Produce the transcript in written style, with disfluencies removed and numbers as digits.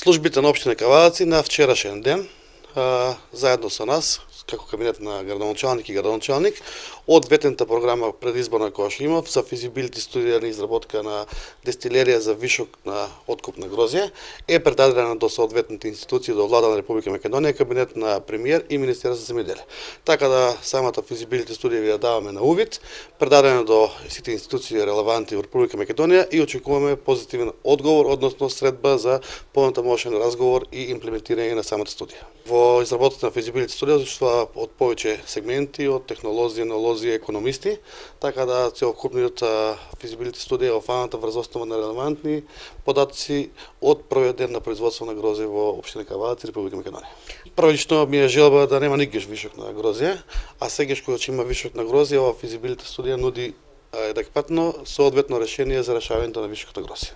Службите на општина Кавалаци на вчерашен ден, заедно со нас, како кабинет на градоначалник и градоначалник, од ветената програма предизборна која што имав за физибилити студија на изработка на дестилерија за вишок на откуп на грозје, е предадена до соодветните институции, до Влада на Република Македонија, кабинет на премиер и Министерство за земјоделие. Така да самата физибилити студија ви ја даваме на увид, предадена до сите институции релевантни во Република Македонија и очекуваме позитивен одговор, односно средба за понатамошен разговор и имплементирање на самата студија. Во изработката на физибилити студија учествува од повеќе сегменти, од технолози, енолози, економисти, така да целокупниот физибилити студија е офаната врз основа на релевантни податоци од првиот ден на производство на грозје во општина Кавалаци, Република Македонија. Првично ми е желба да нема никогаш вишок на грозје, а сегаш кога ќе има вишок на грозје, ова физибилити студија нуди адекватно соодветно решение за решавањето на вишокот на грозје.